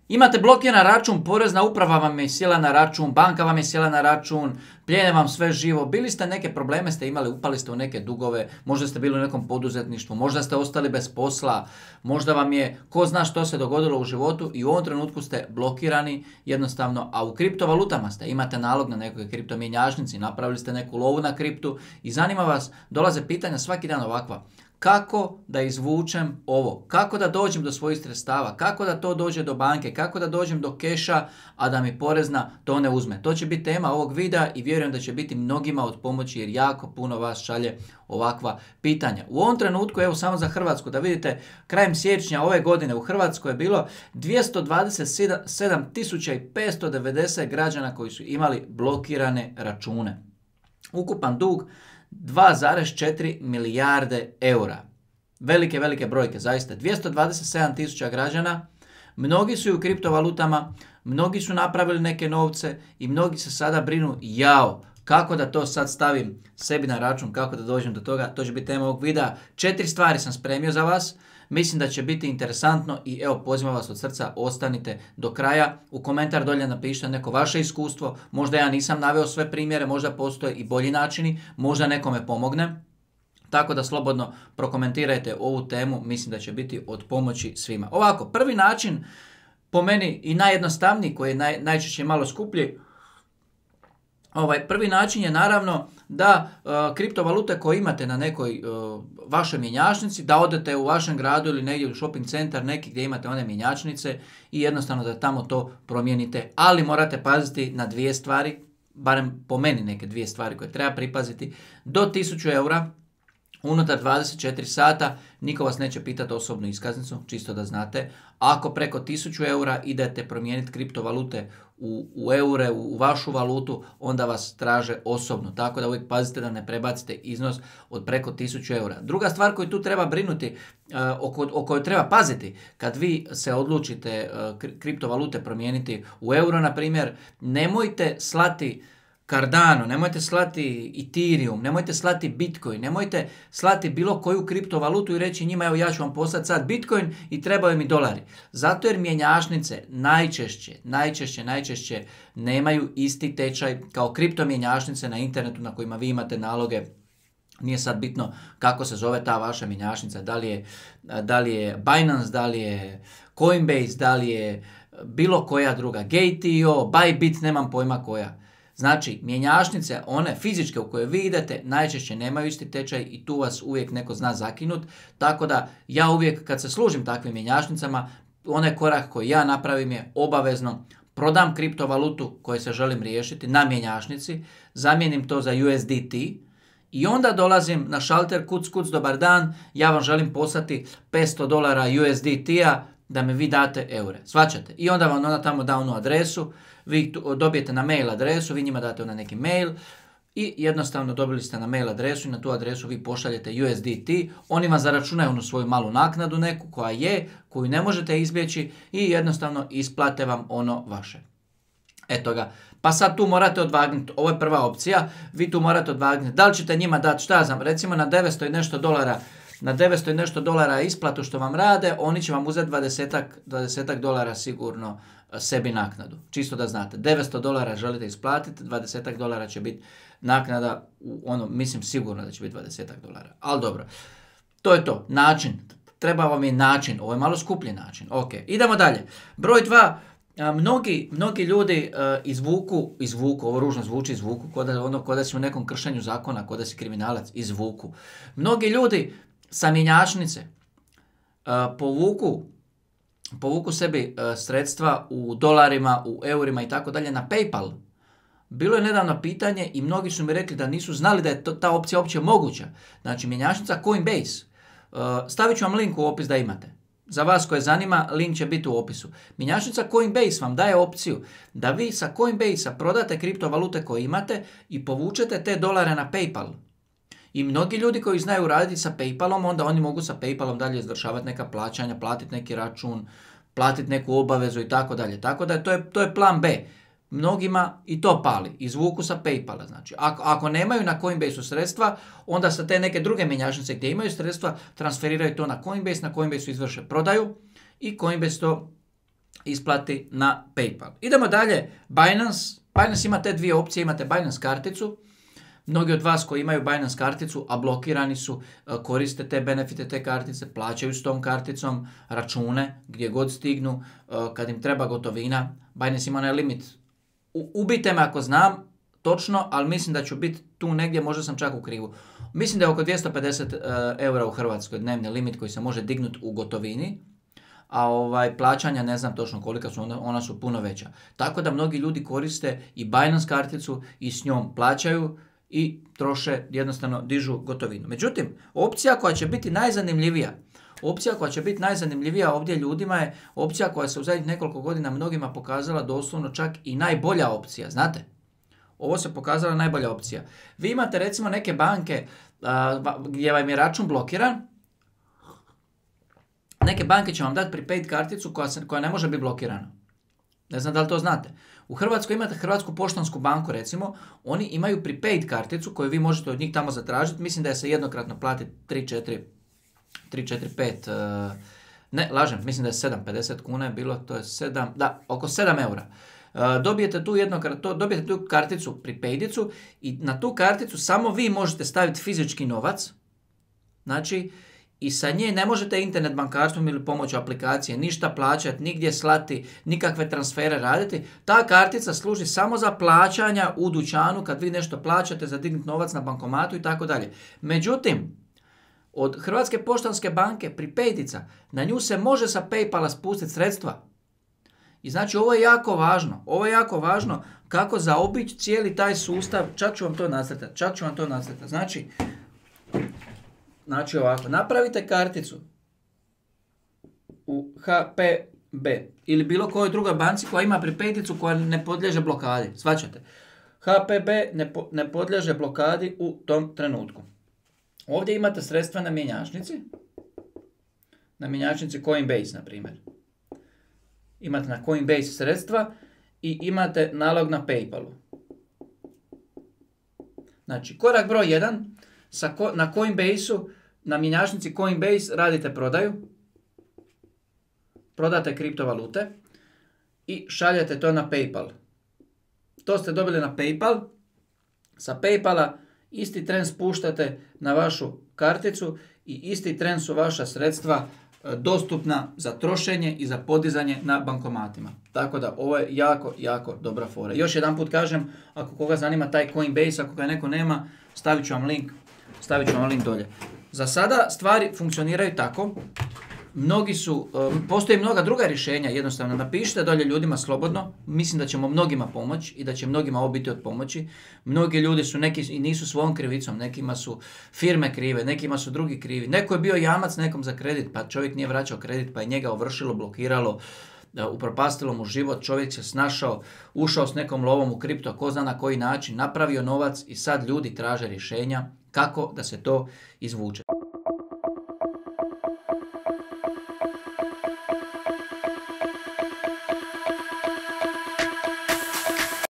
Imate blokiran račun, porezna uprava vam je sjela na račun, banka vam je sjela na račun, plijene vam sve živo, bili ste neke probleme, ste imali, upali ste u neke dugove, možda ste bili u nekom poduzetništvu, možda ste ostali bez posla, možda vam je, ko zna što se dogodilo u životu i u ovom trenutku ste blokirani jednostavno, a u kriptovalutama ste, imate nalog na nekoj kriptomjenjačnici, napravili ste neku lovu na kriptu i zanima vas, dolaze pitanja svaki dan ovakva. Kako da izvučem ovo? Kako da dođem do svojih sredstava? Kako da to dođe do banke? Kako da dođem do keša, a da mi porezna to ne uzme? To će biti tema ovog videa i vjerujem da će biti mnogima od pomoći jer jako puno vas šalje ovakva pitanja. U ovom trenutku, evo samo za Hrvatsku, da vidite, krajem siječnja ove godine u Hrvatskoj je bilo 227.590 građana koji su imali blokirane račune. Ukupan dug 2,4 milijarde eura. Velike brojke, zaista. 227.000 građana, mnogi su u kriptovalutama, mnogi su napravili neke novce i mnogi se sada brinu, kako da to sad stavim sebi na račun, kako da dođem do toga, to će biti tema ovog videa. 4 stvari sam spremio za vas, mislim da će biti interesantno i evo pozivam vas od srca, ostanite do kraja. U komentar dolje napišite neko vaše iskustvo, možda ja nisam naveo sve primjere, možda postoje i bolji načini, možda nekome pomogne. Tako da slobodno prokomentirajte ovu temu, mislim da će biti od pomoći svima. Ovako, prvi način, po meni i najjednostavniji, koji je najčešće malo skuplji, prvi način je naravno da kriptovalute koje imate na nekoj vašoj mjenjačnici, da odete u vašem gradu ili negdje u shopping centar neki gdje imate one mjenjačnice i jednostavno da tamo to promijenite. Ali morate paziti na 2 stvari, barem po meni neke 2 stvari koje treba pripaziti. Do 1000 eura, unutar 24 sata, niko vas neće pitati osobnu iskaznicu, čisto da znate. Ako preko 1000 eura idete promijeniti kriptovalute u eure, u vašu valutu, onda vas traže osobno. Tako da uvijek pazite da ne prebacite iznos od preko 1000 eura. Druga stvar koju tu treba brinuti, o kojoj treba paziti, kad vi se odlučite kriptovalute promijeniti u euro, na primjer, nemojte slati Cardano, nemojte slati Ethereum, nemojte slati Bitcoin, nemojte slati bilo koju kriptovalutu i reći njima evo ja ću vam poslati sad Bitcoin i trebaju mi dolari. Zato jer mjenjačnice najčešće nemaju isti tečaj kao kriptomjenjačnice na internetu na kojima vi imate naloge. Nije sad bitno kako se zove ta vaša mjenjačnica, da li je Binance, da li je Coinbase, da li je bilo koja druga, Gate.io, Bybit, nemam pojma koja. Znači, mjenjačnice, one fizičke u koje vi idete, najčešće nemaju isti tečaj i tu vas uvijek neko zna zakinut. Tako da ja uvijek kad se služim takvim mjenjačnicama, onaj korak koji ja napravim je obavezno prodam kriptovalutu koju se želim riješiti na mjenjačnici, zamijenim to za USDT i onda dolazim na šalter, kuc, dobar dan, ja vam želim poslati $500 USDT-a da mi vi date eure. Svaćate? I onda vam ona tamo da onu adresu, vi dobijete na mail adresu, vi njima date ona neki mail i jednostavno dobili ste na mail adresu i na tu adresu vi pošaljete USDT, oni vam zaračunaju onu svoju malu naknadu neku koju ne možete izbjeći i jednostavno isplate vam ono vaše. Eto ga. Pa sad tu morate odvagnuti, ovo je prva opcija, vi tu morate odvagnuti, da li ćete njima dati, šta znam, recimo na 900 i nešto dolara, na 900 i nešto dolara isplatu što vam rade, oni će vam uzeti 20 dolara sigurno sebi naknadu. Čisto da znate, $900 želite isplatiti, 20 dolara će biti naknada, mislim sigurno da će biti 20 dolara. Ali dobro, to je to, način, treba vam je način, ovo je malo skuplji način. Ok, idemo dalje. Broj 2, mnogi ljudi izvuku, ovo ružno zvuči, izvuku, ko da si u nekom kršenju zakona, ko da si kriminalac, izvuku. Mnogi ljudi sa mjenjačnice povuku sebi sredstva u dolarima, u eurima i tako dalje na PayPal. Bilo je nedavno pitanje i mnogi su mi rekli da nisu znali da je ta opcija uopće moguća. Znači, mjenjačnica Coinbase. Stavit ću vam link u opis da imate. Za vas koje zanima, link će biti u opisu. Mjenjačnica Coinbase vam daje opciju da vi sa Coinbase-a prodate kriptovalute koje imate i povučete te dolare na PayPal. I mnogi ljudi koji znaju raditi sa PayPalom, onda oni mogu sa PayPalom dalje izvršavati neka plaćanja, platiti neki račun, platiti neku obavezu i tako dalje. Tako da to je plan B. Mnogima i to pali, izvuku sa PayPala. Znači, ako nemaju na Coinbase-u sredstva, onda sa te neke druge mjenjačnice gdje imaju sredstva, transferiraju to na Coinbase, na Coinbase-u izvrše prodaju i Coinbase to isplati na PayPal. Idemo dalje, Binance. Binance ima te dvije opcije, imate Binance karticu. Mnogi od vas koji imaju Binance karticu, a blokirani su, koriste te benefite te kartice, plaćaju s tom karticom račune gdje god stignu, kad im treba gotovina. Binance ima onaj limit. Ubijte me ako znam točno, ali mislim da ću biti tu negdje, možda sam čak u krivu. Mislim da je oko 250 eura u Hrvatskoj dnevni limit koji se može dignuti u gotovini, a plaćanja ne znam točno kolika su, ona su puno veća. Tako da mnogi ljudi koriste i Binance karticu i s njom plaćaju i troše, jednostavno dižu gotovinu. Međutim, opcija koja će biti najzanimljivija ovdje ljudima je opcija koja se u zadnjih nekoliko godina mnogima pokazala doslovno čak i najbolja opcija, znate? Ovo se pokazala najbolja opcija. Vi imate recimo neke banke gdje vam je račun blokiran. Neke banke će vam dati prepaid karticu koja ne može biti blokirana. Ne znam da li to znate. U Hrvatskoj imate Hrvatsku poštansku banku recimo, oni imaju prepaid karticu koju vi možete od njih tamo zatražiti. Mislim da je se jednokratno plati 3, 4, 5, ne, lažem, mislim da je 7,50 kuna je bilo, to je 7, da, oko 7 eura. Dobijete tu karticu, prepaidicu i na tu karticu samo vi možete staviti fizički novac, znači, i sa nje ne možete internet bankarstvom ili pomoću aplikacije ništa plaćati, nigdje slati, nikakve transfere raditi. Ta kartica služi samo za plaćanja u dućanu kad vi nešto plaćate, za dignut novac na bankomatu i tako dalje. Međutim, od Hrvatske poštanske banke prepaidica, na nju se može sa PayPala spustiti sredstva. I znači ovo je jako važno kako zaobići cijeli taj sustav, čak ću vam to nacrtati. Znači ovako, napravite karticu u HPB ili bilo kojoj drugoj banci koja ima prepaidicu koja ne podliježe blokadi, shvaćate? HPB ne podliježe blokadi u tom trenutku. Ovdje imate sredstva na mjenjačnici Coinbase, na primjer. Imate na Coinbase sredstva i imate nalog na PayPalu. Znači, korak broj 1, na Coinbase-u, na mjenjačnici Coinbase radite prodaju, prodate kriptovalute i šaljete to na PayPal. To ste dobili na PayPal, sa PayPala isti tren spuštate na vašu karticu i isti tren su vaša sredstva dostupna za trošenje i za podizanje na bankomatima. Tako da ovo je jako dobra fora. Još jedan put kažem, ako koga zanima taj Coinbase, ako ga neko nema, stavit ću vam link dolje. Za sada stvari funkcioniraju tako. Postoji mnoga druga rješenja, jednostavno napišite dolje ljudima slobodno, mislim da ćemo mnogima pomoći i da će mnogima ovo biti od pomoći. Mnogi ljudi su neki i nisu svojom krivicom, nekima su firme krive, nekima su drugi krivi. Neko je bio jamac nekom za kredit, pa čovjek nije vraćao kredit, pa je njega ovršilo, blokiralo, upropastilo mu život, čovjek se snašao, ušao s nekom lovom u kripto, ko zna na koji način, napravio novac i sad ljudi traže rješenja kako da se to izvuče.